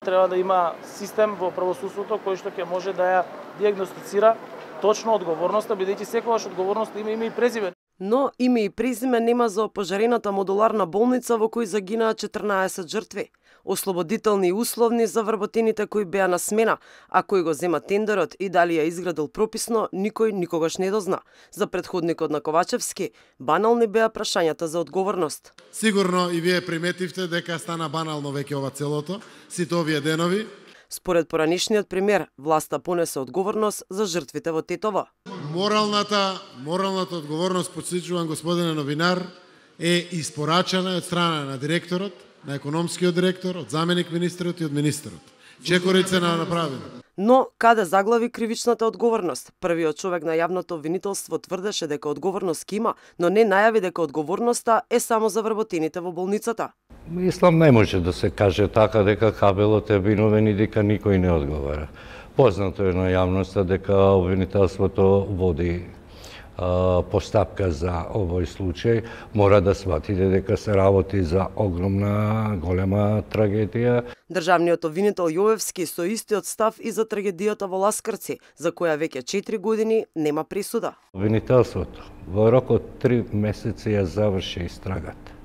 Треба да има систем во правосудството кој што ќе може да ја диагностицира точно одговорноста, бидејќи секогаш одговорноста има име и презиме. Но име и презиме нема за опожарената модуларна болница во кој загинаа 14 жртви. Ослободителни и условни за вработените кои беа на смена, а кој го зема тендерот и дали ја изградил прописно, никој никогаш не дозна. За претходникот на Ковачевски, банални беа прашањата за одговорност. Сигурно и вие приметивте дека стана банално веќе ова целото, сите овие денови. Според поранешниот премиер, власта понесе одговорност за жртвите во Тетово. Моралната одговорност, потсечувам господине новинар, е испорачана од страна на директорот, на економскиот директор, од заменик министерот и од министерот. Чекорица на направено. Но каде заглави кривичната одговорност? Првиот човек на јавното обвинителство тврдеше дека одговорност ки има, но не најави дека одговорноста е само за вработените во болницата. Мислам, не може да се каже така дека кабелот е виновен и дека никој не одговара. Познато е на јавноста дека обвинителството води постапка за овој случај. Мора да сватите дека се работи за огромна, голема трагедија. Државниот обвинител Јовевски со истиот став и за трагедијата во Ласкарци, за која веќе 4 години нема присуда. Обвинителството во рок од 3 месеци ја заврши истрагата.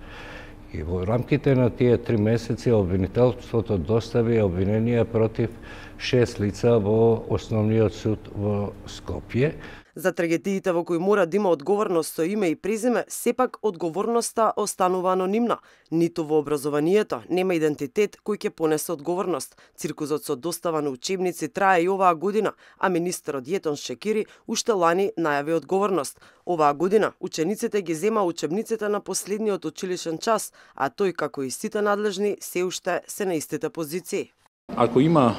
И во рамките на тие 3 месеци обвинителството достави обвинение против 6 лица во Основниот суд во Скопје. За трагедиите во кои мора да има одговорност со име и презиме, сепак одговорноста останува анонимна. Ниту во образованието нема идентитет кој ќе понесе одговорност. Циркузот со достава на учебници трае и оваа година, а министерот Јетон Шекири уште лани најави одговорност. Оваа година учениците ги зема учебниците на последниот училишен час, а тој како и сите надлежни се уште се на истите позиции. Ако има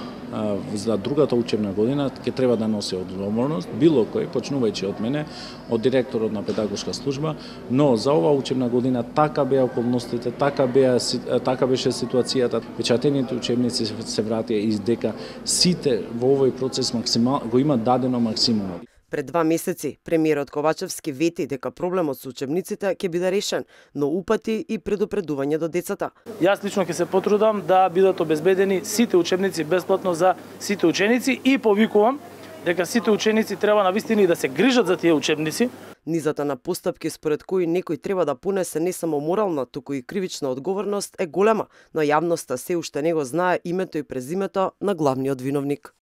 за другата учебна година, ќе треба да носи одговорност, било кој, почнувајќи од мене, од директорот на педагошка служба, но за оваа учебна година така беа околностите, така беше ситуацијата, печатените учебници се вратија и дека сите во овој процес го има дадено максимумот. Пред 2 месеци, премиерот Ковачевски вети дека проблемот со учебниците ќе биде решен, но упати и предупредување до децата. Јас лично ќе се потрудам да бидат обезбедени сите учебници бесплатно за сите ученици и повикувам дека сите ученици треба навистина и да се грижат за тие учебници. Низата на постапки според кои некој треба да понесе не само морална, туку и кривична одговорност е голема, но јавноста се уште не го знае името и презимето на главниот виновник.